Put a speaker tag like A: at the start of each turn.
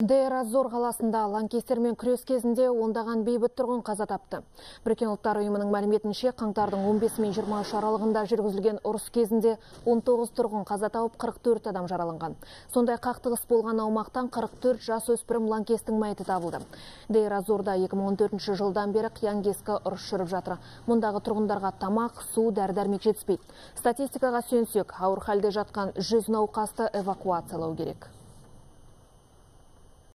A: Дейр-аз-Зор қаласында лаңкестермен күрес кезінде ондаған бейбіт тұрғын қаза тапты. Біріккен ұлттар ұйымының мәліметінше, қаңтардың 15 мен 23 аралығында жүргізілген ұрыс кезінде 19 тұрғын қаза тауып, 44 адам жараланған. Сондай қақтығыс болған аумақтан 44 жасөспірім лаңкестің мәйіті табылды. Дейр-аз-Зорда 2014 жылдан бері қиян-кескі ұрыс жүріп жатыр. Мұндағы тұрғындарға тамақ, су, дәрі-дәрмек жетіспейді. Статистикаға сүйенсек, ауыр халде жатқан 100 науқасты эвакуациялау керек.